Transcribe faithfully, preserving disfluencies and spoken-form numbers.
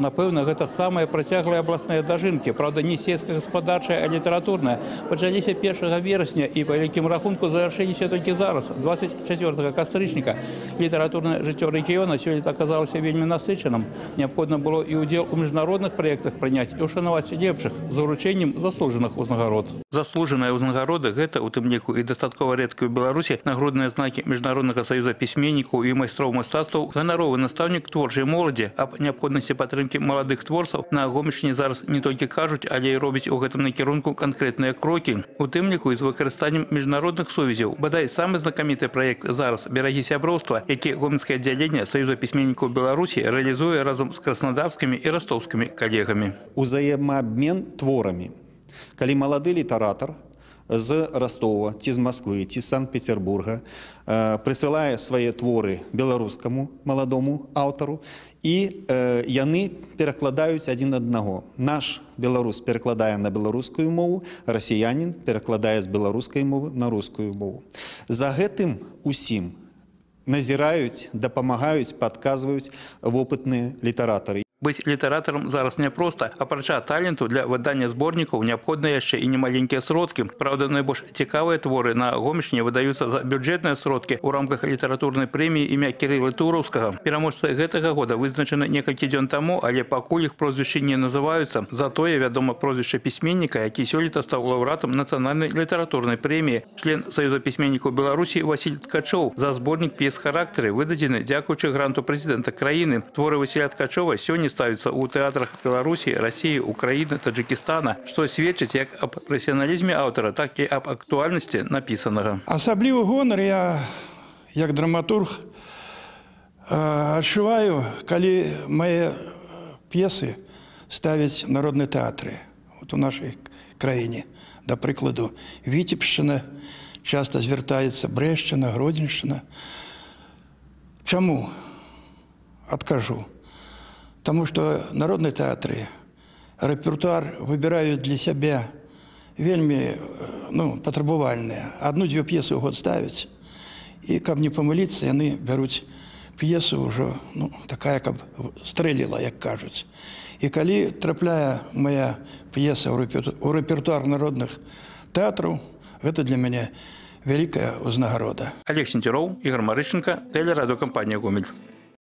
Напэўна, гэта самыя працяглыя абласныя дажынкі. Праўда, не сельскагаспадарчая, а літаратурная. Пачаліся першага верасня і па вялікім рахунку завяршыліся толькі зараз, двадцать чацвёртага кастрычніка. Літаратурнае жыццё рэгіёна сёлета аказалася вельмі насычаным. Неабходна было і ўдзел у міжнародных праектах прыняць і ўшанаваць лепшых з уручэннем заслужаных узнагарод. Заслужаныя ўзнагароды гэта, у тым ліку і дастаткова рэдкія ў Беларусі, нагрудныя знакі Міжнароднага саюза пісьменнікаў і майстроў мастацтваў, ганаровы настаўнік творчай моладзі. Аб неабходнасці падтрымкі маладых творцаў на Гомельшчыне зараз не толькі кажуць, але і робяць у гэтым накірунку канкрэтныя крокі. У тым ліку і з выкарыстаннем міжнародных сувязяў. Бадай самы знакаміты праект зараз «Берагі сяброўства», які гомельскае аддзяленне Саюза пісьменнікаў Беларусі рэалізуе разам з краснодарскімі і ростовскімі калегамі. Узаемаабмен творамі. Калі малады літаратар з Ростова, ці з Москвы, ці з Санкт-Петербурга прысылае свае творы беларускаму маладому аўтару, і э, яны перакладаюць адзін аднаго. Наш беларус перакладае на беларускую мову, расіянін перакладае з беларускай мовы на рускую мову. За гэтым усім назіраюць, дапамагаюць, падказваюць вопытныя літаратары. Быць літаратарам зараз няпроста. Апрача таленту для выдання зборнікаў неабходна яшчэ і немаленькія сродкі. Праўда, найбольш цікавыя творы на Гомельшчыне выдаюцца за бюджэтныя сродкі ў рамках літаратурнай прэміі імя Кірыла Тураўскага. Пераможцы гэтага года вызначаны некалькі дзён таму, але пакуль іх прозвішчы не называюцца. Затое вядома прозвішча пісьменніка, які сёлета стаў лаўрэатам нацыянальнай літаратурнай прэміі. Член Саюза пісьменнікаў Беларусі Васіль Ткачоў. За зборнік п'ес-характары выдадзены дзякуючы гранту прэзідэнта краіны. Творы Васіля Ткачова сёння ставятся у тэатрах Беларусі, России, Украины, Таджикистана, что сведчыць як аб прафесіяналізме аўтара, так і аб актуальнасці напісанага. Асаблівы гонар я, як драматург, адчуваю, калі мае п'есы ставяць народныя тэатры. Вот у нашай краіне, да прыкладу, Віцебшчына, часто звяртаецца Брэшчына, Гродзеншчына. Чаму? Адкажу. Потому что народные театры, репертуар выбирают для себя вельми ну, потребовальные. Одну-две пьесы в год ставить. И, как не помылиться, они берут пьесу уже, ну, такая, как стрелила, как кажуть. И коли трапляя моя пьеса у репертуар народных театров, это для меня великая узнагорода. Олег Сентеров, Игорь Марыщенко, телерадиокомпания «Гомель».